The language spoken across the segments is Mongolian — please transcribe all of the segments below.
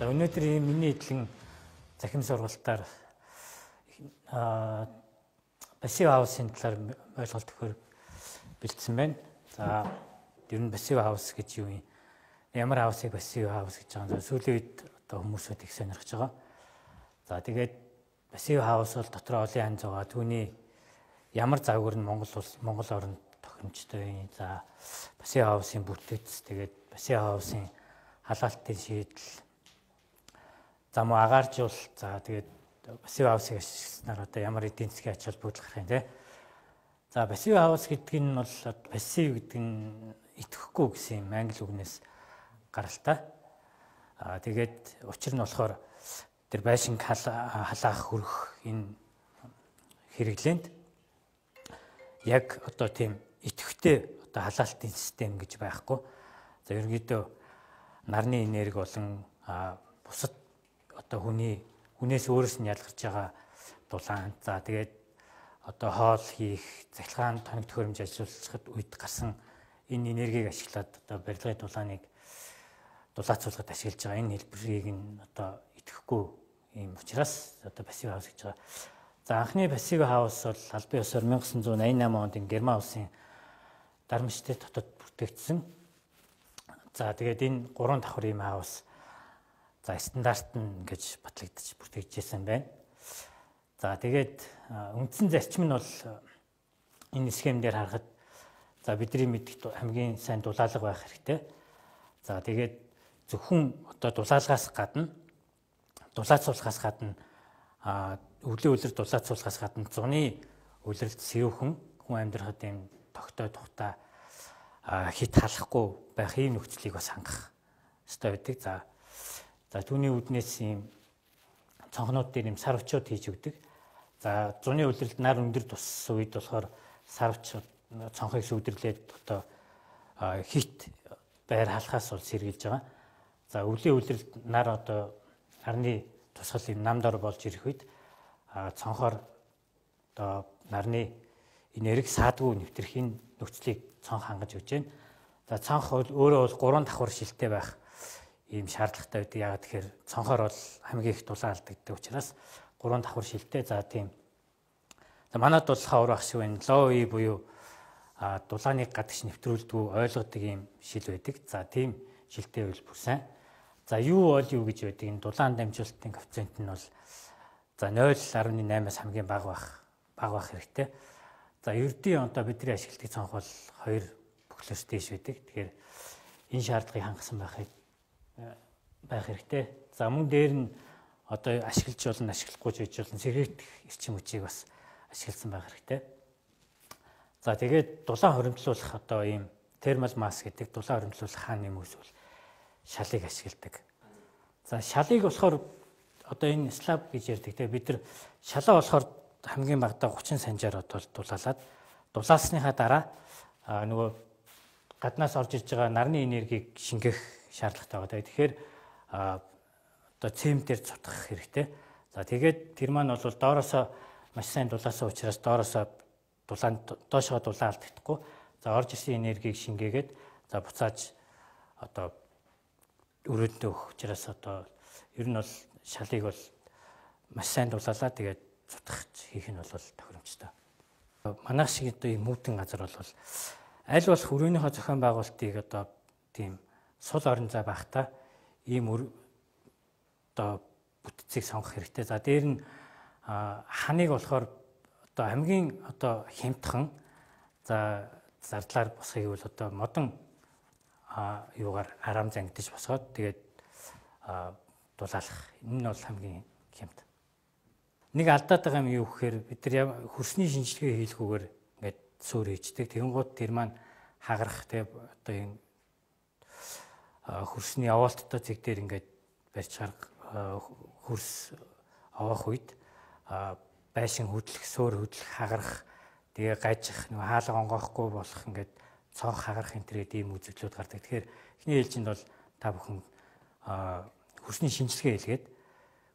За өнөөдөр миний эдлэн захим сургалтаар пассив хаусын талаар ойлголт өгөхөөр бэлдсэн байна. За ер нь пассив хаус гэж юу юм? Ямар хаусыг пассив хаус гэж байгаа юм. Сүүлийн үед одоо хүмүүсүүд их сонирхож байгаа. За тэгээд пассив хаус бол дотроо олон янз байгаа. Түүний ямар загвар нь Монгол оронд тохиромжтой. За пассив хаусын бүтэц, тэгээд пассив хаусын халаалтын шийдэл, зам агааржуул, за тэгээд пассив хаусыг ашигласнаар одоо ямар эдийн засгийн ач холбогдол гарах юм те. За пассив хаус гэдэг нь бол пассив гэдэг нь итгэхгүй гэсэн юм англи үгнээс гаралтай. Тэгээд учир нь болохоор тэр байшинг халаах хөрөх энэ хэрэглээнд яг одоо тийм идэвхтэй одоо халаалтын систем гэж байхгүй. За ерөнхийдөө нарны энерги болон бусад одоо хүнээс өөрөөс нь ялгарч байгаа дулаан. За тэгээд одоо хоол хийх, цахилгаан тоног төхөөрөмж ажиллуулахад үед гарсан энэ энергийг ашиглаад одоо барилгын дулааныг дулаацуулахад ашиглаж байгаа. Энэ хэлбэрийг нь одоо идэхгүй юм учраас одоо пассив хаус гэж байгаа. За анхны пассив хаус бол албан ёсоор 1988 онд Герман улсын Дармштадт хотод бүтээгдсэн. За тэгээд энэ 3 давхар ийм хаус за стандарт нь гэж батлагдчих бүтээгдэжсэн байна. За тэгээд үндсэн зарчим нь бол энэ схемээр харахад за бидний мэддэг хамгийн сайн дулаалга байх хэрэгтэй. За тэгээд зөвхөн одоо дулаалгаас гадна дулаацуулахаас гадна өвлийн үлрэлт дулаацуулахаас гадна зуны үлрэлт сэвхэн хүн амьдрахад юм тогтоо тухта хит халахгүй байх ийм нөхцөлийг бас хангах ёстой байдаг. За түүний үүднээс ийм цонхнууд дээр юм сар өчөөд хийж өгдөг. За зуны үлрэлт нар өндөр туссан үед болохоор сар өчөөд цонхыг сүвдэрлээд одоо хит байр халахаас бол сэргийлж байгаа. За өвлийн үлрэлт нар одоо нарны тусгал юм намдор болж ирэх үед цонхоор одоо нарны энерги саадгүй нэвтрэх энэ нөхцөлийг цонх хангаж өгч байна. За цонх өөрөө бол 3 давхар шилтэй байх ийм шаардлагатай байдаг. Яагаад тэгэхээр цонхоор бол хамгийн их дулаан алдагддаг учраас 3 давхар шилтэй. За тийм. За манайд бол хавар ах шиг байна. Лоуи буюу дулааныг гадагш нэвтрүүлдэггүй ойлгодог ийм шил байдаг. За тийм шилтэй байвал бүр сайн. За юу бол юу гэж байдаг? Энэ дулаан дамжуулалтын коэффициент нь бол за 0.8-аас хамгийн бага байх хэрэгтэй. За ердийн одоо бидний ашигладаг цонх бол 2 бүхлөөс дээш байдаг. Тэгэхээр энэ шаардлагыг хангасан байх хэрэгтэй. За мөн дээр нь одоо ашиглаж болно, ашиглахгүй ч хийж болно. Сэргээгдэх эрчим хүчийг бас ашигласан байх хэрэгтэй. За тэгээд дулаан хоримтлуулах одоо ийм термал масс гэдэг дулаан хоримтлуулах хааны хүмүүс бол шалыг ашигладаг. За шалыг болохоор одоо энэ слаб гэж ярьдаг. Тэгээ бид нар шалаа болохоор хамгийн багадаа 30 санжаар одоо дулаалаад дулаалсныхаа дараа нөгөө гаднаас орж ирж байгаа нарны энергийг шингэх шаардлагатай байгаа. Тэгэхээр одоо цементээр цутгах хэрэгтэй. За тэгээд тэр маань бол доороосоо маш сайн дулаасан учраас доороосоо доошоо дулаан алдагдахгүй. За орж ирсэн энергийг шингээгээд за буцааж одоо өрөөндөө өгөх учраас одоо ер нь бол шалыг бол маш сайн дулаалаа тэгээд цутгах хийх нь бол тохиромжтой. Манайх шиг одоо ийм мүүдэн газар бол аль болох өрөөнийхөө зохион байгуулалтыг одоо тийм сул орон зай байхдаа ийм одоо бүтцийг сонгох хэрэгтэй. За дээр нь ханыг болохоор одоо хамгийн одоо хямдхан за зардлаар босхийг бол одоо модон юугаар арам зангидж босгоод тэгээд дулаалах. Энэ нь бол хамгийн хямд. Нэг алдаад байгаа юм юу гэхээр бид нар хөрсний шинжилгээ хийлгүүгээр ингээд суур хийждэг. Тэгэнгუთ тэр маань хагарах тэг одоо энэ хөрсний овоолттой зэг дээр ингээд барьж хөрс овоох үед байшин хөдлөх, суур хөдлөх, хагарах, тэгээ гажих, нэг хаалга онгоохгүй болох ингээд цонх хагарах энэ төрлийн ийм үзэгдлүүд гардаг. Тэгэхээр эхний ээлжинд бол та бүхэн хөрсний шинжилгээ хийлгээд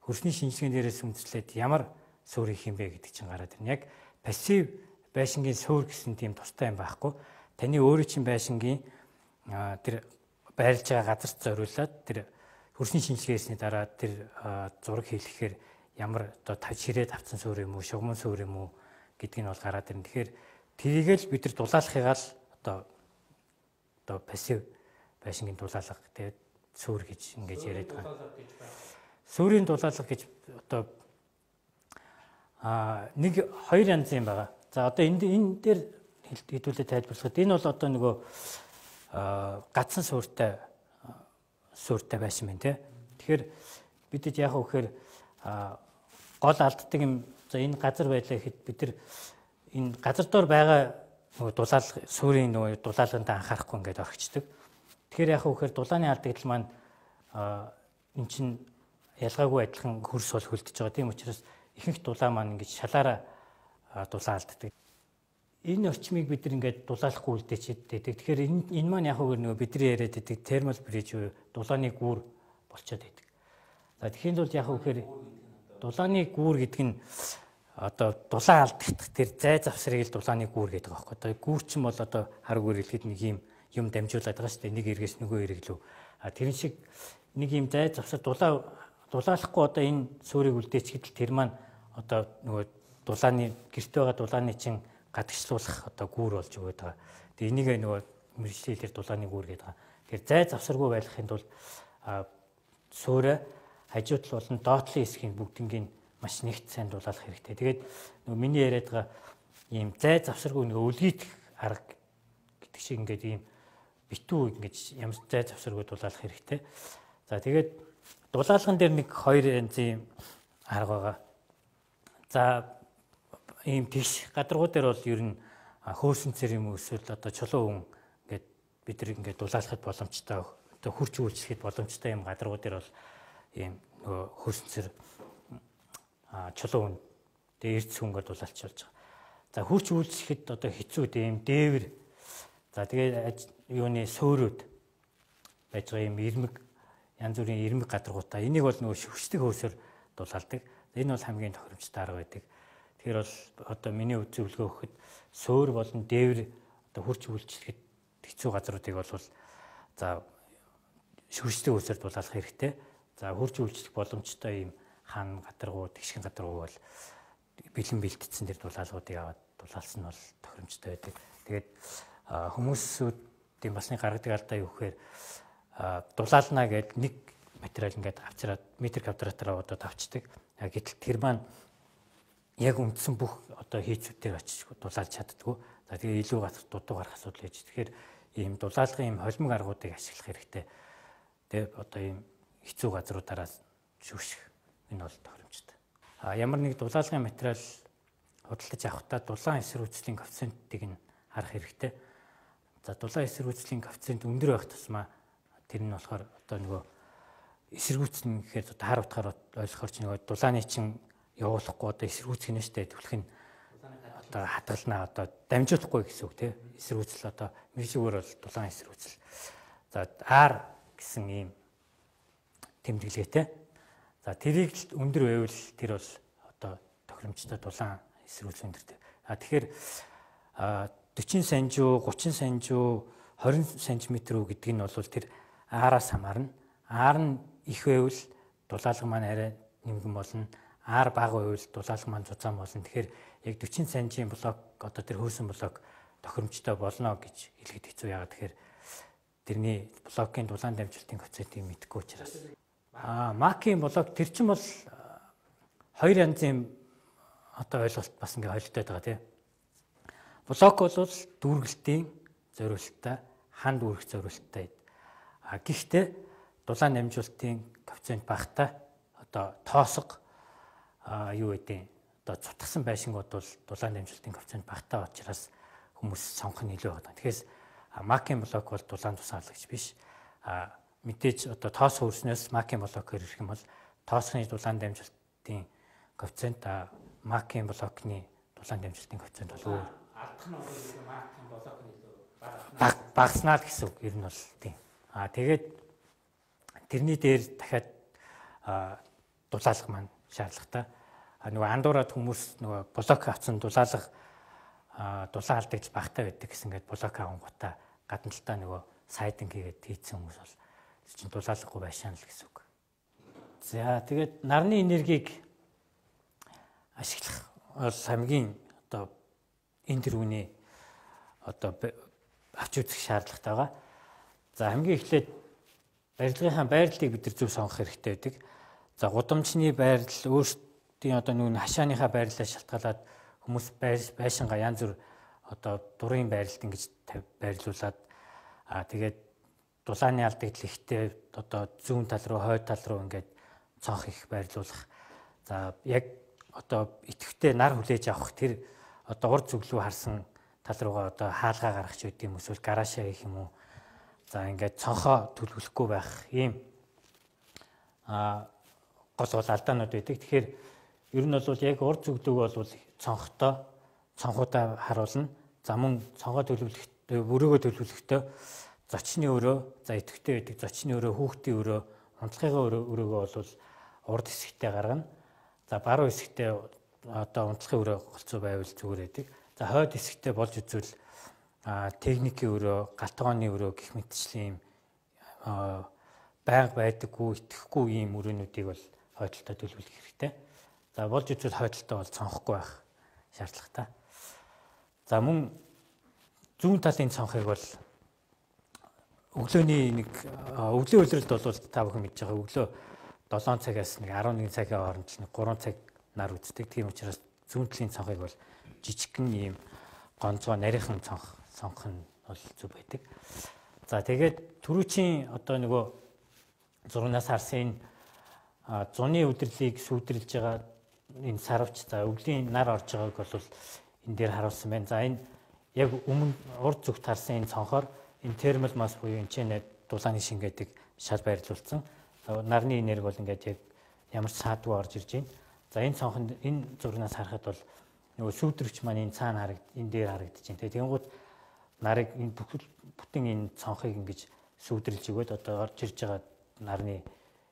хөрсний шинжилгээний дээрээс үндэслээд ямар суур хийх юм бэ гэдэг чинь гараад ирнэ. Яг пассив байшингийн суур гэсэн тийм тустай юм байхгүй. Таны өөрийн чинь байшингийн тэр байрлаж байгаа газарт зориулаад тэр хөрсний шинжилгээсний дараа тэр зураг хийлгэхээр ямар одоо ширээ тавцсан суур юм уу, шугамн суур юм уу гэдгийг нь бол гараад ирнэ. Тэгэхээр тэрийгэл бид нар дулаалахыгаа л одоо пассив байшингийн дулаалга тэгээд суур гэж ингэж яриад байгаа. Суурийн дулаалга гэж одоо нэг хоёр янз юм байгаа. За одоо энэ дээр хэдүүлээ тайлбарлахад энэ бол одоо нөгөө гацсан сууртай байшин байна те. Тэгэхээр бидэд яг үхээр гол алддаг юм. За энэ газар байлаа гэхэд бид нар энэ газар дор байгаа нөгөө дулаалга суурийн нөгөө дулаалганд анхаарахгүй ингээд орхичдаг. Тэгэхээр яг үхээр дулааны алдагдал маань эн чинь ялгаагүй адилхан хөрс бол хөлдөж байгаа. Тийм учраас ихэнх дулаан маань ингэж шалаараа дулаан алддаг. Энэ орчмыг бид нар ингээд дулаалахгүй үлдээчихэд. Тэгэхээр энэ маань яг үгээр нөгөө бидний яриад байдаг термал бриж буюу дулааны гүүр болчиход байдаг. За тэгэхээр бол яг үгээр дулааны гүүр гэдэг нь одоо дулаан алдагдах тэр зай завсрыг л дулааны гүүр гэдэг байгаа байхгүй. Одоо гүүр чинь бол одоо хар гүүр хэлэхэд нэг юм дамжуулаад байгаа шүү дээ. Нэг эргээс нөгөө эрг лөө. Тэрэн шиг нэг юм зай завсар дулаалахгүй одоо энэ суурийг үлдээчихэд тэр маань одоо нөгөө дулааны гэрт байгаа дулааны чин гадагшлуулах одоо гүүр болж өгöd байгаа. Тэгээ энийг нөгөө мэржлэлээр дулааны гүүр гэдэг байгаа. Тэгэхээр зай завсаргүй байхын тулд суурь хажууд болон доотлын хэсгийн бүгднийг маш нэгт сайн дулаалах хэрэгтэй. Тэгээд нөгөө миний яриад байгаа ийм зай завсаргүй нөгөө үлгийдэх арга гэдэг шиг ингээд ийм битүү ингэж ямар зай завсаргүй дулаалах хэрэгтэй. За тэгээд дулаалган дээр нэг хоёр янзын арга байгаа. За ийм тэгш гадаргуу дээр бол ер нь хөөсөн цэр юм эсвэл одоо чулуу хүн ингээд бид нар ингээд дулаалахад боломжтой одоо хурц үйлчлэхэд боломжтой юм гадаргуу дээр бол ийм нөгөө хөөсөн цэр чулуу хүн тэгээ эрдэс хүнгээр дулаалч болж байгаа. За хурц үйлчлэхэд одоо хэцүү ийм дээвэр за тэгээ юуны суурууд байж байгаа юм ирмэг янз бүрийн ирмэг гадаргуудаа энийг бол нөгөө шүхсдэг хөөсөөр дулаалдаг. Энэ бол хамгийн тохиромжтой арга байдаг. Тэгэхээр бол одоо миний үзүүлэлгөө өгөхөд суур болон дээвэр одоо хурц үйлчлэхэд хэцүү газруудыг бол за шүхсдэг хөөсөөр дулаалах хэрэгтэй. За хурц үйлчлэх боломжтой юм хан гадаргуу, тэгшин гадаргуу бол бэлэн бэлтцсэн тэр дулаалгуудыг аваад дулаалсан нь бол тохиромжтой байдаг. Тэгээд хүмүүсүүдийн бас нэг гаргадаг алдаа юу гэхээр дулаална гэдэг нэг материал ингээд авчираад метр квадратаар одоо тавчдаг. Гэтэл тэр маань яг үндсэн бүх одоо хийцүүдээр очиж дулаалж чаддгүй. За тэгээ илүү дутуу гарах асуудал байж. Тэгэхээр ийм дулаалгын ийм холимог аргуудыг ашиглах хэрэгтэй. Тэгээ одоо ийм хэцүү газруудаараа шүүших энэ бол тохиромжтой. Ямар нэг дулаалгын материал худалдаж авахдаа дулаан эсрүүцлийн коэффициентийг нь харах хэрэгтэй. За дулаан эсрүүцлийн коэффициент өндөр байх тусмаа тэр нь болохоор одоо нөгөө эсэргүүцнэ гэхээр одоо хар утгаар ойлгохоор ч нөгөө дулааны чин явуулахгүй одоо эсэргүүцгэнэ штэ төвлөх нь одоо хадгалнаа одоо дамжуулахгүй гэсэн үг тийм эсэргүүцэл одоо мэржүүгээр бол дулаан эсэргүүцэл. За R гэсэн ийм тэмдэглэгээтэй. За тэрийг өндөр байвал тэр бол одоо тохиромжтой дулаан эсрүүцэл өндөртэй. Тэгэхээр 40 санжуу, 30 санжуу, 20 см гэдэг нь бол тэр R-аас хамаарна. R нь их байвал дулаалга маань арай нэмгэн болно. R бага байвал дулаалга маань зузаан болно. Тэгэхээр яг 40 санжийн блок одоо тэр хөөсөн блок тохиромжтой болно гэж хэлэхэд хэцүү. Яагаад тэгэхээр тэрний блокийн дулаан дамжуулалтын коэффициентийг мэдэхгүй учраас. Макийн блок тэр чинь бол хоёр янзын одоо ойлголт бас ингээ холилдоод байгаа тийм. Блок бол дүүргэлтийн зориулалттай, ханд үүрэх зориулалттай. Гэхдээ дулаан дамжуулалтын коэффициент багтаа одоо тоосго юу гэдэг одоо цутгсан байшингууд бол дулаан дамжуулалтын коэффициент багтаа учраас хүмүүс сонгох нь илүү байгаа. Тэгэхээр макийн блок бол дулаан тусаалагч биш. Мэдээж одоо тоос хөрснөөс макийн блокээр ирэх юм бол тоосхны дулаан дамжуулалтын коэффициент макийн блокны дулаан дамжуулалтын коэффициент бол өөр. Алдах нь бол макийн блокны илүү багаснаа гэсэн үг ер нь бол тийм. Тэгээд тэрний дээр дахиад дулаалга маань шаардлагатай. Нөгөө андуураад хүмүүс нөгөө блок авсан дулаан алдагдж багтаа байдаг гэсэн ингээд блок авангуудаа гадна талтаа нөгөө сайдинг хийгээд хийцэн хүмүүс бол чинь дулаалгагүй байшаана л гэсэн үг. За тэгээд нарны энергийг ашиглах бол хамгийн одоо энэ төрөний одоо авч үзэх шаардлагатай байгаа. За хамгийн эхлээд барилгынхаа байрлалыг бид нар зөв сонгох хэрэгтэй байдаг. За гудамжны байрал өөрсдийн одоо нэг хашааныхаа байрлалаас шалтгаалаад хүмүүс байшингаа янз бүр одоо дурын байралд ингэж байрлуулад тэгээд дулааны алдагдал ихтэй одоо зүүн тал руу хойд тал руу ингээд цонх их байрлуулах. За яг одоо идэвхтэй нар хүлээж авах тэр одоо урд зүглүү харсан тал руугаа одоо хаалгаа гаргах ч үгүй юм эсвэл гараашаа хийх юм уу. За ингээд цонхоо төлөвлөхгүй байх ийм гол алдаанууд байдаг. Тэгэхээр ер нь бол яг урд зүглүүг бол цонхуудаа харуулна. За мөн цонхоо төлөвлөхдөө өрөөгөө төлөвлөхдөө зочны өрөө, за идэвхтэй байдаг зочны өрөө, хүүхдийн өрөө, унтлагын өрөөгөө бол урд хэсэгтээ гаргана. За баруун хэсэгтээ одоо унтлагын өрөө голцоо байвал зүгээр байдаг. За хойд хэсэгтээ болж үзвэл техникийн өрөө, галтгооны өрөө гэх мэтчлийн байнга байдаггүй, итгэхгүй ийм өрөөнүүдийг бол хойдолтой төлөвлөх хэрэгтэй. За болж үзвэл хойдолтой бол цонхгүй байх шаардлагатай. За мөн зүүн талын цонхыг бол өглөөний нэг өглөө улиралд бол та бүхэн мэдж байгаа өглөө 7 цагаас нэг 11 цагийн хооронд нэг 3 цаг нар үздэг. Тийм учраас зүүн талын цонхыг бол жижигхэн ийм гонцгой нарийнхан цонх нь бол зүг байдаг. За тэгээд түрүүчийн одоо нөгөө зурнаас харсан энэ зуны үдэрлийг сүйдрлж байгаа энэ сарвч за өвлийн нар орж байгааг бол энэ дээр харуулсан байна. За энэ яг өмнө урд зүгт харсан энэ цонхоор энэ термал масс буюу энэ чинь дулааны шин гэдэг шал байрлуулсан. Нарны энерги бол ингээд яг ямар ч саадгүй орж ирж байна. За энэ цонхонд энэ зурнаас харахад бол нөгөө сүйдрэгч маань энэ цаана энэ дээр харагдаж байна. Тэгэнгүүт нарыг энэ бүтэн энэ цонхыг ингэж сүйдрэлж өгөөд одоо орж ирж байгаа нарны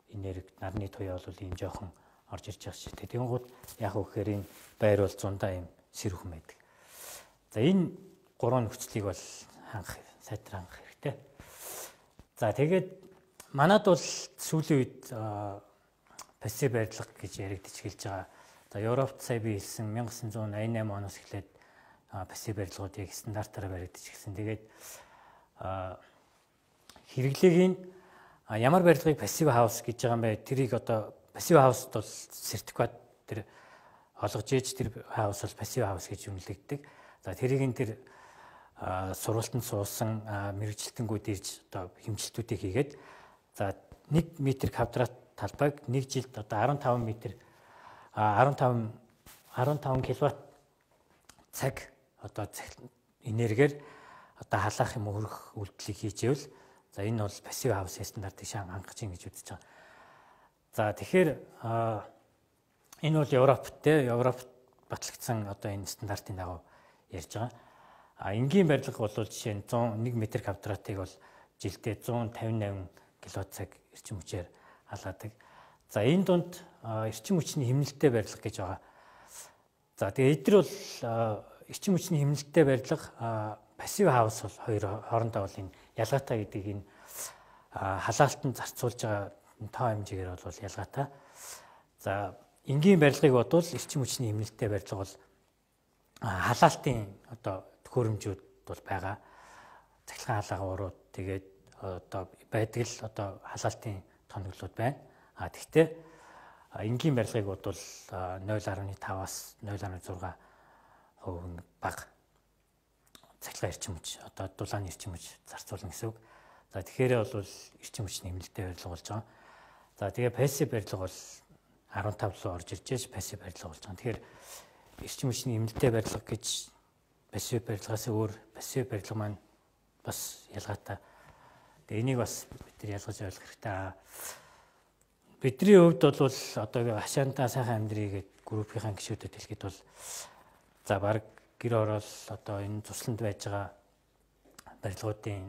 энерги, нарны туяа бол ийм жоохон орж ирж байгаа шүү дээ. Тэгэнгүүт яг үхээр энэ байр бол зундаа ийм сэрүүхэн байдаг. За энэ гурван нөхцөлийг бол сайтар хангах хэрэгтэй. За тэгээд манад бол сүүлийн үед пассив барилга гэж яригдж эхэлж байгаа. За Европт сая би хэлсэн 1988 оноос эхлээд пассив барилгууд яг стандартаараа баригдаж эхэлсэн. Тэгээд хэрэглээгийн ямар барилгыг пассив хаус гэж байгаа юм бэ? Тэрийг одоо пассив хаусд бол сертификат тэр олгож ээж тэр хаус бол пассив хаус гэж үнэлэгддэг. За тэрийг энэ тэр сургалтанд суусан мэрэгжилтэнгүүд ирж одоо хэмжилтүүдийг хийгээд за 1 м квадрат талбайг 1 жилд одоо 15 кВт цаг одоо энергиэр одоо халаах юм хөрөх үйлдэлийг хийж ивэл за энэ бол пассив хаус стандартыг хангаж ийн гэж үзэж байгаа. За тэгэхээр энэ бол Европт батлагдсан одоо энэ стандартын дагуу ярьж байгаа. Энгийн барилга бол жишээ нь 101 м квадратыг бол жилдээ 158 кВт цаг эрчим хүчээр халаадаг. За энэ дунд эрчим хүчний хэмнэлттэй барилга гэж байгаа. За тэгээ эдгээр бол эрчим хүчний хэмнэлттэй барилга пассив хаус бол хоёр хоорондоо бол энэ ялгаатай гэдгийг энэ халаалтанд зарцуулж байгаа тоо хэмжээгээр бол ялгаатай. За энгийн барилгыг бодвол эрчим хүчний хэмнэлттэй барилга бол халаалтын одоо төхөөрөмжүүд бол байгаа. Цахилгаан халаага урууд тэгээд одоо байдаг л одоо халаалтын тоноглууд байна. Тэгвэл энгийн барилгыг бодвол 0.5-аас 0.6% бага цахилгаан эрчим хүч одоо дулааны эрчим хүч зарцуулна гэсэн үг. За тэгэхээр бол эрчим хүчний хэмнэлттэй барилга болж байгаа. За тэгээ пассив барилга бол 15 руу орж ирж пассив барилга болж байгаа. Тэгэхээр эрчим хүчний хэмнэлттэй барилга гэж пассив барилгаас өөр пассив барилга маань бас ялгаатай. Тэгээ энийг бас бид нар ялгаж ойлгох хэрэгтэй. Бидний хувьд бол одоо хашаантаа сайхан амьдрий гэдэг группийн гишүүдэд хэлэхэд бол за баг гэр орол одоо энэ тусланд байж байгаа барилгуудын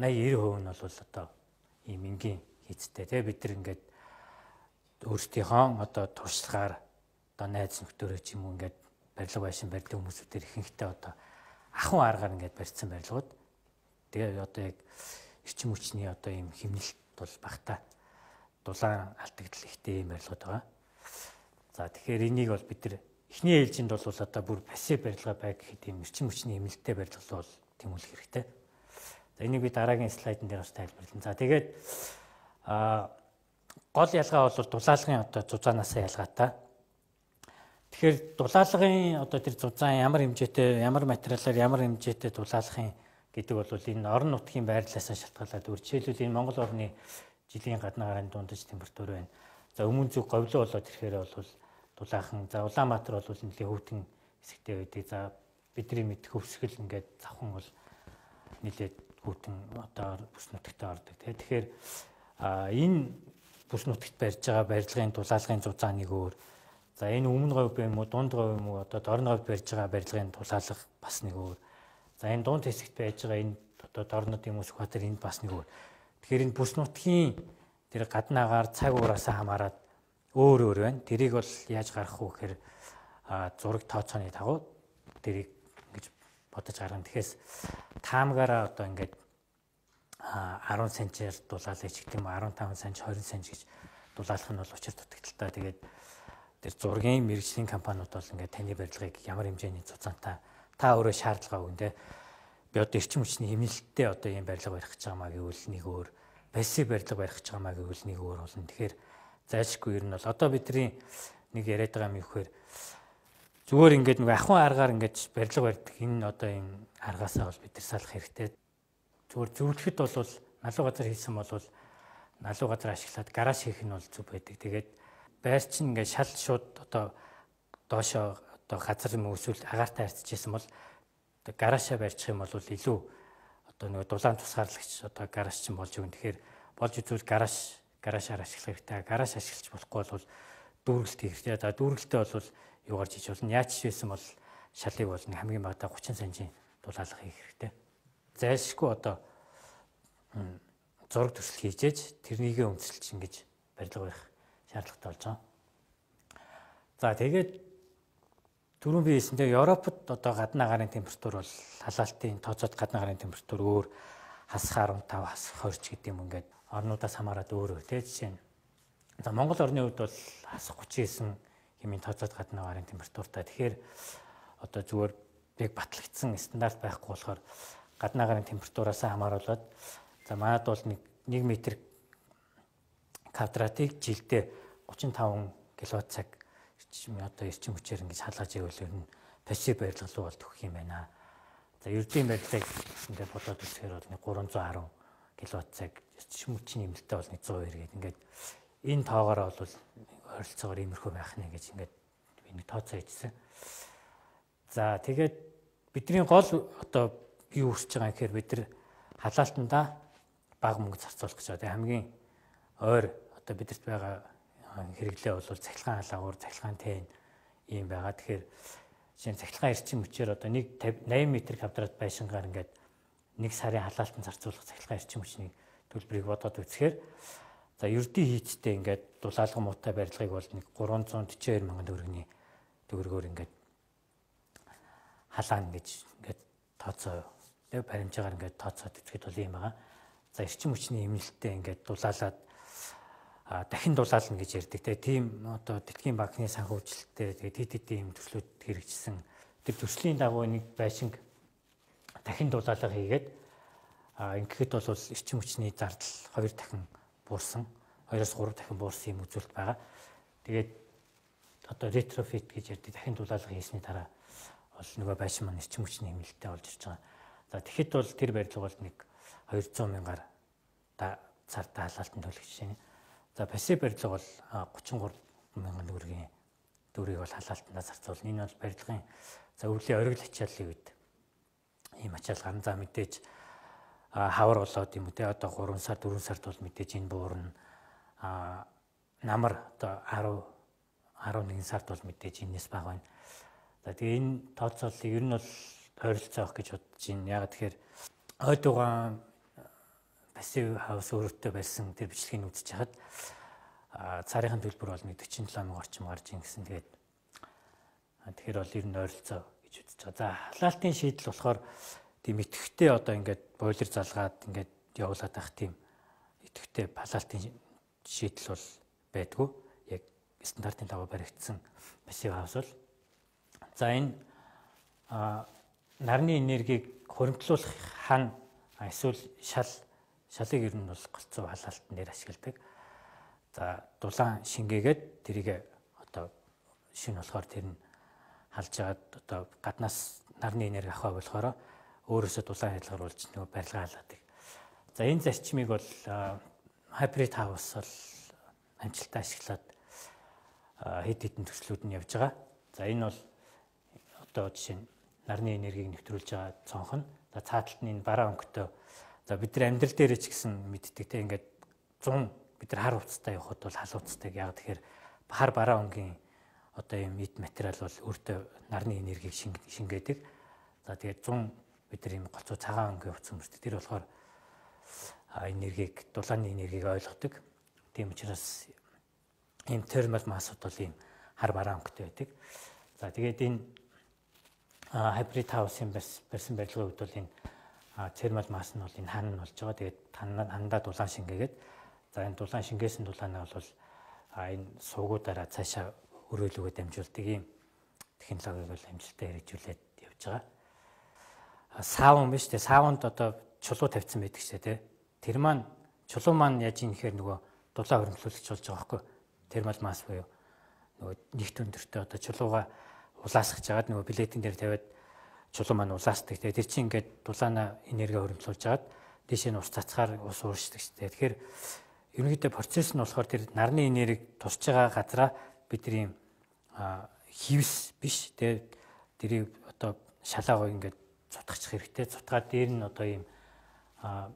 80-90% нь бол одоо ийм энгийн хийцтэй. Тэгээ бид нар ингээд өөрсдийнхөө одоо туршлагаар одоо найз нөхдөөрөө ч юм уу ингээд барилга байшин барилгын хүмүүсүүдээр ихэнхдээ одоо ахуйн аргаар ингээд барьсан барилгууд. Тэгээ одоо яг эрчим хүчний одоо ийм хэмнэлт бол багтаа. дулаан алдагдал ихтэй юм барилгууд байгаа. За тэгэхээр энийг бол бид нар эхний ээлжинд бол одоо бүр пассив барилга бай гэхэд ийм эрчим хүчний эмнэлтэд барилга бол тэмүүлэх хэрэгтэй. За энийг би дараагийн слайдн дээр бас тайлбарлана. За тэгээд гол ялгаа бол дулаалгын одоо зузаанаас ялгаатай. Тэгэхээр дулаалгын одоо тэр зузаан ямар хэмжээтэй, ямар материалаар ямар хэмжээтэй дулаалгын гэдэг бол энэ орон нутгийн байрлалаас шалтгаалаад жишээлбэл энэ Монгол орны жилийн гадна гарааны дундаж температур байна. За өмнө зүг говьлоо болоод ирэхээр бол дулаахан. За Улаанбаатар бол нэлийн хөвтөн хэсэгтэй байдаг. За бидний мэд хөвсгөл ингээд завхан бол нэлээд хөвтөн одоо бүс нутагт ордог. Тэгэхээр энэ бүс нутагт барьж байгаа барилгын дулаалгын зузааныг өөр. За энэ өмнө говь юм уу, дунд говь юм уу, одоо дорн говь барьж байгаа барилгын дулаалга бас нэг өөр. За энэ дунд хэсэгт байж байгаа энэ одоо дорнод юм уу, Сүхбаатар энэ бас нэг өөр. Тэгэхээр энэ бүс нутгийн тэр гаднаагаар цаг угаараас хамаарат өөр байна. Тэрийг бол яаж гаргах вэ гэхээр зураг тооцооны дагуу тэрийг ингэж бодож гаргана. Тэгэхээс таамгаараа одоо ингээд 10 см-ээр дулаалж гэдэг юм уу, 15 см, 20 см гэж дулаалах нь бол учир дутагдaltaа. Тэгээд тэр зургийн мэргэжлийн компаниуд бол ингээд таны барилгыг ямар хэмжээний зузаантай та өөрөө шаардлага өгнө. Би одоо эрчим хүчний хэмнэлттэй одоо ийм барилга барих гэж байгаамаа гэвэл нэг өөр, пассив барилга барих гэж байгаамаа гэвэл нэг өөр болно. Тэгэхээр зайлшгүй ер нь бол одоо бидний нэг яриад байгаа юм ихээр зүгээр ингээд нэг ахуйн аргаар ингээд барилга барьдаг энэ одоо энэ аргаасаа бол бид нар салах хэрэгтэй. Зүгээр зөвлөхөд бол налуу газар хийсэн бол налуу газар ашиглаад гараж хийх нь бол зүг байдаг. Тэгээд байр чинь ингээд шал шууд одоо доошоо одоо газар юм эсвэл агаартай харьцажсэн бол гараашаа барьчих юм бол илүү одоо нэг дулаан тусгаарлагч одоо гараж чинь болж өгнө. Тэгэхээр болж үзвэл гараашаар ашиглах хэрэгтэй. Гараж ашиглаж болохгүй бол дүүргэлт хийх хэрэгтэй. За дүүргэлтээ бол юу гарч иж болно. Яаж байсан бол шалыг бол нэг хамгийн багадаа 30 см дулаалга хийх хэрэгтэй. Зайлшгүй одоо зураг төсөл хийжээж тэрнийгээ өмсөлж ингэж барилга барих шаардлагатай болж байгаа. За тэгээд түрүүн би хэлсэнтэй Европод одоо гаднаа гарын температур бол халаалтын тооцоод гаднаа гарын температур өөр, хасах 15, хасах 20 гэдэг юм ингээд орнуудаас хамаарат өөр өөр тийм жишээ нь. За Монгол орны хувьд бол хасах 39 хэмээн тооцоод гаднаа гарын температуртай. Тэгэхээр одоо зүгээр яг батлагдсан стандарт байхгүй болохоор гаднаа гарын температураас хамааруулаад за манайд бол 1 м квадратыг жилдээ 35 кВт-цаг одоо эрчим хүчээр ингэж халгаж ивэл ер нь пассив барилга руу бол төгөх юм байна. За ердийн барилгыг ингээд бодоод үзэхээр бол 310 кВт-цаг эрчим хүчний нэмэлтээ бол 190 гэдэг ингээд энэ тоогоороо бол ойролцоогоор иймэрхүү байх нэ гэж ингээд би нэг тооцоо хийжсэн. За тэгээд бидний гол одоо юу хүсэж байгаа юм гэхээр бид нар халаалтандаа бага мөнгө зарцуулах гэж байна. Хамгийн ойр одоо бидэрт байгаа хэрэглээ бол цахилгаан халагуур, цахилгаан тэн ийм байгаа. Тэгэхээр жишээ нь цахилгаан эрчим хүчээр одоо 80 м2 байшингаар ингээд 1 сарын халаалтанд зарцуулах цахилгаан эрчим хүчний төлбөрийг бодоод үзэхээр за ердийн хийцтэй ингээд дулаалга муутай барилгыг бол нэг 342 мянган төгрөгийн төгрөгөөр ингээд халаана гэж ингээд тооцоо баримжаагаар ингээд тооцоод үзэхэд бол юм байгаа. За эрчим хүчний эмнэлттэй ингээд дулаалаад дахин дулаална гэж ярьдаг. Тийм одоо Дэлхийн банкны санхүүжилттэй тэгээд ийм төслүүд хэрэгжсэн. Тэр төслийн дагуу нэг байшинг дахин дулаалга хийгээд ингэхэд бол эрчим хүчний зардал 2 дахин буурсан, 2-оос 3 дахин буурсан юм үзүүлэлт байгаа. Тэгээд одоо ретрофит гэж ярьдаг дахин дулаалга хийсний дараа бол нөгөө байшин маань эрчим хүчний эмнэлттэй болж ирж байгаа. За тэгэхэд бол тэр барилга бол нэг 200 мянгаар цартаа халаалтанд төлөх жишээ. За пассив барилга бол 33 мянган төгрөгийн төгрөгийг бол халаалтандаа зарцуулна. Энэ бол барилгын за өвлийн оргил ачааллын үед ийм ачаал гарна. За мэдээж хавар болоод юм уу те одоо 3 сар 4 сард бол мэдээж энэ буурна. Намар одоо 11 сард бол мэдээж энэс бага байна. За тэгээ энэ тооцооллыг ер нь бол ойролцоо авах гэж бодож байна. Яг тэгэхээр ойдугаан пассив хаус өөртөө барьсан тэр бичлэгийг үзэж хахад цаарийн төлбөр бол 47 мянган орчим гарч ийн гэсэн. Тэгэхээр бол ер нь ойролцоо гэж үзэж байгаа. За халаалтын шийдэл болохоор тийм идэвхтэй одоо ингээд бойлер залгаад ингээд явуулаад байх тийм идэвхтэй халаалтын шийдэл бол байдгүй. Яг стандартын дагуу баригдсан пассив хаус бол за энэ нарны энергийг хуримтлуулах хан эсвэл шалыг ер нь бол голцоо халаалтан дээр ашигладаг. За дулаан шингээгээд тэрийг одоо шин болохоор тэр нь халж агаад одоо гаднаас нарны энерги авах болохоор өөрөөсөө дулаан хялгаруулж нөгөө барилгаа халаадаг. За энэ зарчмыг бол hybrid house бол амжилттай ашиглаад хэд хэдэн төслүүд нь явж байгаа. За энэ бол одоо жишээ нь нарны энергийг нэвтрүүлж байгаа цонх нь. За цааталт нь энэ бараа өнгөтэй. За бид нар амьдрал дээр ч гэсэн мэддэг те ингээд 100 бид нар хар хувцастай явахад бол халууцтай. Яг тэгэхээр хар бараа өнгийн одоо юм эд материал бол өөртөө нарны энергийг шингээдэг. За тэгээд 100 бид нар юм голцоо цагаан өнгийн хувцас өмсдөг. Тэр болохоор энергийг дулааны энергийг ойлгодог. Тийм учраас ийм термал массууд бол ийм хар бараа өнгөтэй байдаг. За тэгээд энэ hybrid house-ын барьсан барилгын хувьд бол энэ термал масс нь бол энэ хан нь болж байгаа. Тэгээд хандаа дулаан шингээгээд за энэ дулаан шингээсэн дулаанаа бол энэ суугуудаараа цаашаа өрөөлөгөө дамжуулдаг ийм технологиг бол амжилттай хэрэгжүүлээд явж байгаа. Саун биш үү? Саунд одоо чулуу тавьсан байдаг ч тийм. Тэр маань чулуу маань яаж юм гэхээр нөгөө дулаан хөрөмтлүүлэгч болж байгаа байхгүй. Термал масс буюу нөгөө нэгт өндөртөө одоо чулууга улаасгаж агаад нөгөө плетийн дээр тавиад чулуу маань улаасдаг. Тэгээ тэр чинь ингээд дулаанаа энерги хөрөмтлүүлж агаад дээшээ нь ус цацгаар ус ууршдаг ч тийм. Тэгэхээр ерөнхийдөө процесс нь болохоор тэр нарны энерги тусч байгаа газараа бид тэр ийм хивс биш тийм. Тэрийг одоо шалаагаа ингээд цутгачих хэрэгтэй. Цутгаад дээр нь одоо ийм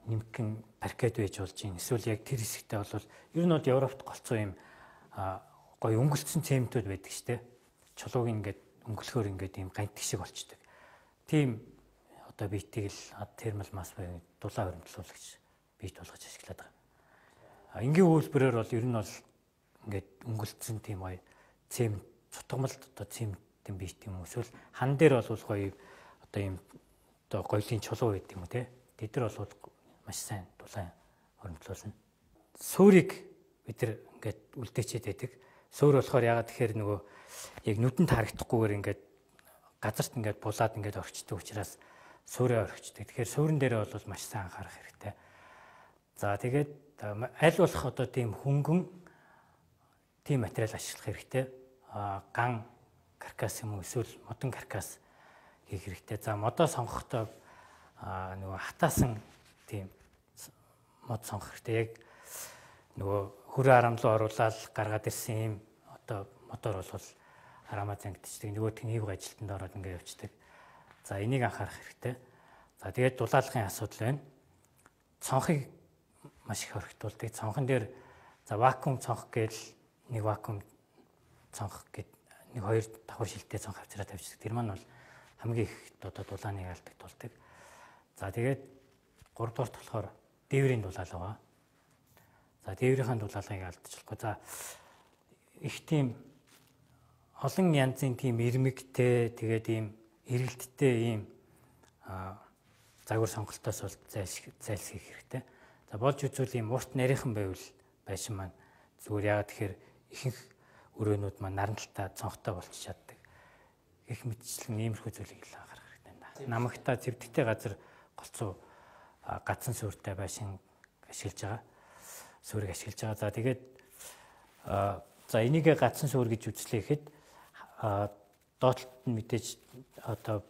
нэмгэн паркет байж болж юм. Эсвэл яг тэр хэсэгтээ бол ер нь бол Европт голцоо юм гоё өнгөлцсөн цементүүд байдаг шүү дээ. Чулууг ингээд өнгөлөхөөр ингээд юм гантг шиг болчдөг. Тийм одоо биетийг л термал масс буюу дулаан хөрөмтлүүлэгч биет болгож ашиглаад байгаа. Энгийн үйлбэрээр бол ер нь бол ингээд өнгөлцсөн тийм гоё цемент цутгамалт одоо цементийн биет юм уу. Эсвэл хан дээр бол гоё одоо юм одоо гоёлын чулуу байдаг юм уу те. Тэд нар бол маш сайн дулаан хөрөмтлүүлнэ. Суурийг бид нар ингээд үлдээчээд байдаг. Суур болохоор ягаад тэгэхээр нөгөө яг нүдэнд харагдахгүйгээр ингээд газарт ингээд булаад ингээд орчдөг учраас суурээ орчдөг. Тэгэхээр суурин дээр бол маш сайн анхаарах хэрэгтэй. За тэгээд аль болох одоо тийм хөнгөн тийм материал ашиглах хэрэгтэй. Ган каркас юм уу эсвэл модон каркас хийх хэрэгтэй. За модоо сонгохдоо нөгөө хатаасан тийм мод сонгох хэрэгтэй. Яг нөгөө хүрээ харамлуу оруулаад гаргаад ирсэн юм одоо мотор бол харамаа зангидчихдаг. Нөгөөх нь хийв ажилтанд ороод ингээд явцдаг. За энийг анхаарах хэрэгтэй. За тэгээд дулаалгын асуудал байна. Цонхыг маш их хоригдуулдаг. Цонхон дээр за вакуум цонх гээл нэг вакуум цонх гэд нэг хоёр давхар шилтэй цонх авчраа тавьчихдаг. Тэр маань бол хамгийн их одоо дулааныг алдаг тулдаг. За тэгээд 3 дугаарт болохоор дээврийн дулаал байгаа. За дээврийн дулаалгыг алдчихлахгүй. За их тийм олон янзын тийм ирмэгтэй тэгээд ийм эргэлттэй ийм загвар сонголтоос бол зайлсхийх хэрэгтэй. За болж үзвэл ийм урт нарийнхан байвал байшин маань зүгээр яагаад тэгэхээр ихэнх өрөөнүүд маань наранталтай цонхтой болчих чаддаг. Их мэдчлэн иймэрхүү зүйлийг л анхаарах хэрэгтэй байна. Намагтаа зэвдэгтэй газар голцоо гацсан суурьтай байшин ашиглаж байгаа. Суурийг ашиглаж байгаа. За тэгээд за энийг гацсан суурь гэж үзлээ гэхэд доотлолт нь мэдээж одоо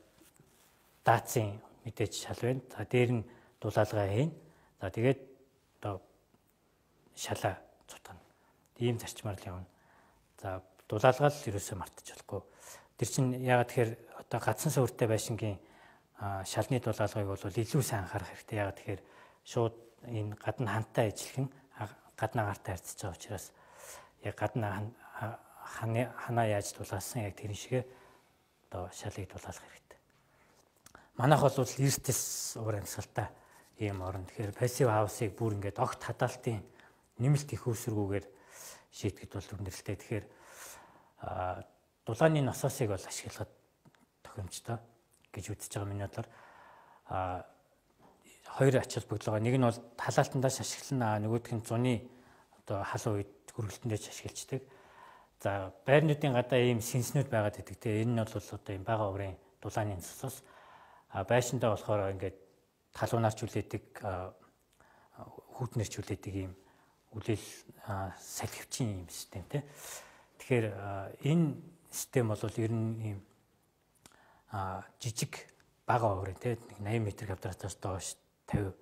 даацын мэдээж шал байна. За дээр нь дулаалгаа хийн. За тэгээд одоо шалаа цутгана. Ийм зарчмаар л явна. За дулаалгаа л ерөөсөө мартаж болохгүй. Тэр чинь яагаад тэгэхээр одоо гацсан суурьтай байшингийн шалны дулаалгыг бол илүү сайн анхаарах хэрэгтэй. Яагаад тэгэхээр шууд энэ гадна хантай ижилхэн гадна агаартай харьцаж байгаа учраас яг гадна ханаа яаж дулаалсан яг тэр шигээ одоо шалыг дулаалах хэрэгтэй. Манайх бол эрдэс уур амьсгалтай ийм орн. Тэгэхээр пассив хаусыг бүр ингээд огт хадаалтын нэмэлт их үүсвэргүйгээр шийтгэд бол өндөрлөлтэй. Тэгэхээр дулааны насосыг бол ашиглахад тохиромжтой гэж үзэж байгаа миний бодлоор хоёр ач холбогдол байгаа. Нэг нь бол халаалтандаас ашиглана, нөгөөх нь зуны одоо халуун үед хөргөлтөндөө ч ашиглаждаг. За байрнуудын гадаа ийм сэнснүүд байгаад байдаг. Тэгээ энэ нь бол одоо ийм бага урын дулааны цусаас байшиндаа болохоор ингээд халуунаарч үлээдэг хүүтнэрч үлээдэг ийм үлээл салхивчин ийм системтэй. Тэгэхээр энэ систем бол ер нь ийм жижиг бага урын те 80 м²-аас доош 50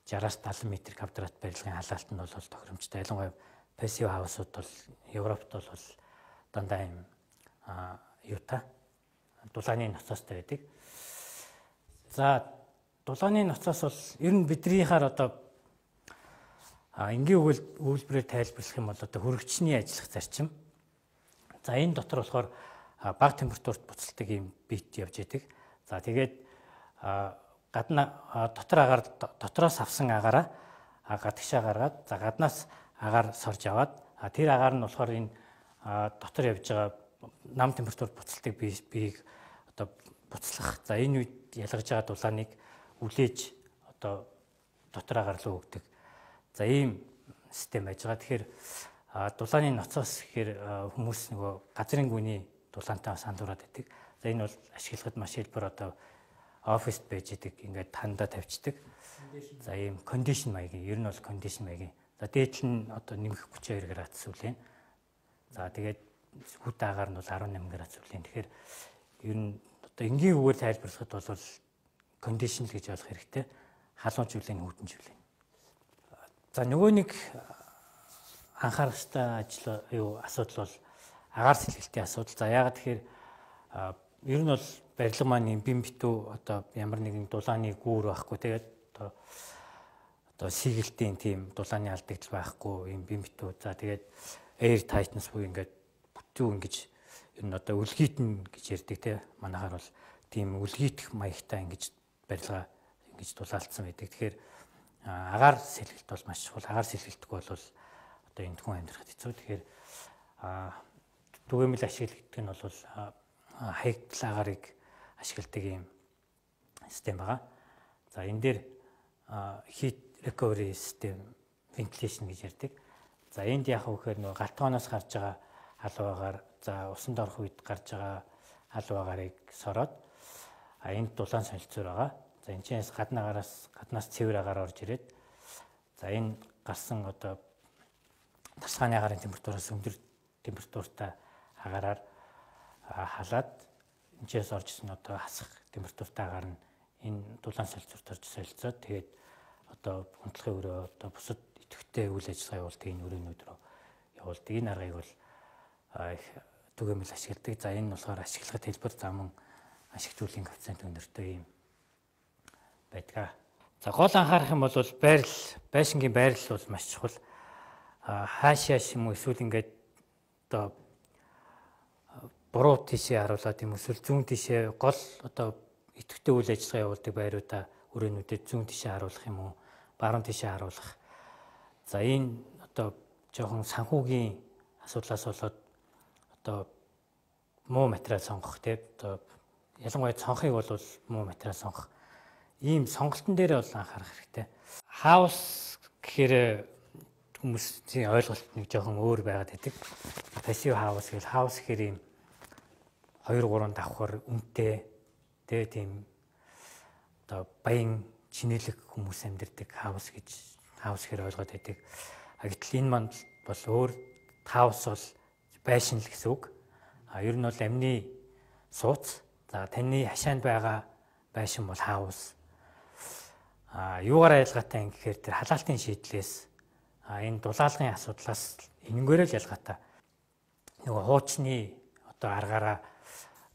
60-аас 70 м² барилгын халаалт нь бол тохиромжтой. Ялангуяа пассив хаусууд бол Европт бол дандаа юм юутай дулааны ноцоостой байдаг. За дулааны ноцоос бол ер нь биднийхаар одоо энгийн үйлбэрээр тайлбарлах юм бол одоо хөрөгчний ажиллах зарчим. За энэ дотор болохоор бага температурт буцалдаг юм бит явж идэг. За тэгээд гадна дотор агаар дотроос авсан агаараа гадагшаа гаргаад за гаднаас агаар сорж аваад тэр агаар нь болохоор энэ дотор явж байгаа нам температурт буцалдаг биеийг одоо буцлах. За энэ үед ялгаж байгаа дулааныг үлээж одоо дотор агаар руу өгдөг. За ийм систем байж байгаа. Тэгэхээр дулааны ноцоос гэхээр хүмүүс нөгөө газрын гүний дулаантай сандуураад байдаг. За энэ бол ашиглахад маш хэлбэр одоо оффист байж идэг ингээд хандаа тавьчихдаг. За ийм кондишн маягийн ер нь бол кондишн маягийн. За дээдл нь одоо нэмэх 32 градус үлээн. За тэгээд хүт агаар нь бол 18 градус үлээн. Тэгэхээр ер нь одоо энгийн үгээр тайлбарлахад бол кондишн л гэж ойлгох хэрэгтэй. Халуунч үлээн, хүтэнч үлээн. За нөгөө нэг анхаарах ёстой асуудал бол агаар сэлгэлтийн асуудал. За яагаад тэгэхээр ер нь бол барилга маань юм бим битүү одоо ямар нэгэн дулааны гүүр байхгүй тэгээд одоо сигэлтийн тийм дулааны алдагдал байхгүй юм бим битүү. За тэгээд air tightness буюу ингээд бүтэн ингэж ер нь одоо үлгийтэн гэж ярьдаг те манайхаар бол тийм үлгийтэх маягтай ингэж барилга ингэж дулаалцсан байдаг. Тэгэхээр агаар сэлгэлт бол маш чухал. Агаар сэлгэлтэхгүй бол одоо энэ хүн амьдрахад хэцүү. Тэгэхээр түгээмэл ашигладаг нь бол хаягдл агаарыг ашигладаг юм систем байгаа. За энэ дээр heat recovery system ventilation гэж ярьдаг. За энд яг үхээр нөгөө галтгооноос гарч байгаа халуун агаар за усанд орох үед гарч байгаа халуун агаарыг сороод энд дулаан солилцоор байгаа. За энэ чинээс гаднаас цэвэр агаар орж ирээд за энэ гарсан одоо тасгааны агаарын температураас өндөр температуртай агаараар халаад энэ чинээс орж ирсэн одоо хасах температуртай агаар нь энэ дулаан солилцоорт орж солилцоод тэгээд одоо унтлахын өрөө одоо бусад идэвхтэй үйл ажиллагаа явуулдаг энэ өрөөнүүд рүү явуулдаг. Энэ аргыг бол их түгээмэл ашигладаг. За энэ нь болохоор ашиглахад хэлбэр замун ашиглуулын коэффициент өндөртэй юм байдаг. За гол анхаарах юм бол байшингийн байрлал бол маш чухал. Хаашаа юм уу эсвэл ингээд одоо буруу тийшээ харуулад юм эсвэл зүүн тийшээ гол одоо идэвхтэй үйл ажиллагаа явуулдаг байруудаа өрөөнүүдэд зүүн тийшээ харуулах юм уу баруун тийшээ харуулах. За энэ одоо жоохон санхүүгийн асуудлаас болоод одоо муу материал сонгох тийм одоо ялангуяа цонхыг бол муу материал сонгох. Ийм сонголтын дээр бол анхаарах хэрэгтэй. Хаус гэхээр хүмүүсийн ойлголт нэг жоохон өөр байгаад байдаг. Пассив хаус гэвэл хаус гэхээр ийм 2-3 давхар үнэтэй тийм одоо баян чинэлэг хүмүүс амьдардаг хаус гэхээр ойлгоод байдаг. Гэтэл энэ манд бол өөр хаус бол байшин л гэсэн үг. Ер нь бол амны сууц. За таны хашаанд байгаа байшин бол хаус. Юугаар ялгаатай юм гэхээр тэр халаалтын шийдлээс энэ дулаалгын асуудлаас энэнгээрээ л ялгаатай. Нөгөө хуучны одоо аргаараа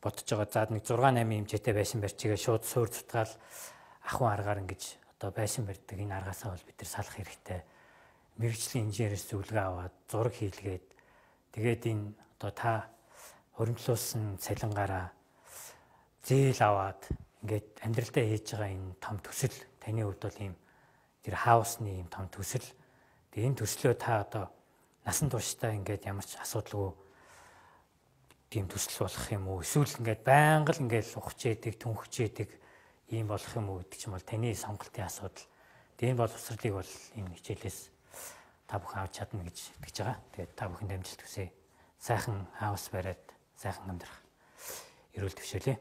бодож байгаа. За нэг 6-8 хэмжээтэй байшин барьчихээ шууд суур цутгаал ахуйн аргаар ингэж одоо байшин барьдаг. Энэ аргаасаа бол бид нар салах хэрэгтэй. Мэргэжлийн инженероос зөвлөгөө аваад зураг хийлгээд тэгээд энэ одоо та хуримтлуулсан цалингаараа зээл аваад ингээд амьдралдаа хийж байгаа энэ том төсөл таны хувьд бол ийм тэр хаусны ийм том төсөл. Тэгээ энэ төслөө та одоо насан туршдаа ингээд ямар ч асуудалгүй тийм төсөл болох юм уу? Эсвэл ингээд байнга л ингээд ухаж яадаг, түнхэж яадаг ийм болох юм уу гэдэг чинь бол таны сонголтын асуудал. Тэгээ энэ боловсролыг бол энэ хичээлээс та бүхэн авч чадна гэж итгэж байгаа. Тэгээд та бүхэнд амжилт хүсье. Сайхан хаус бариад сайхан амьдрах эрүүл төвшөлөө.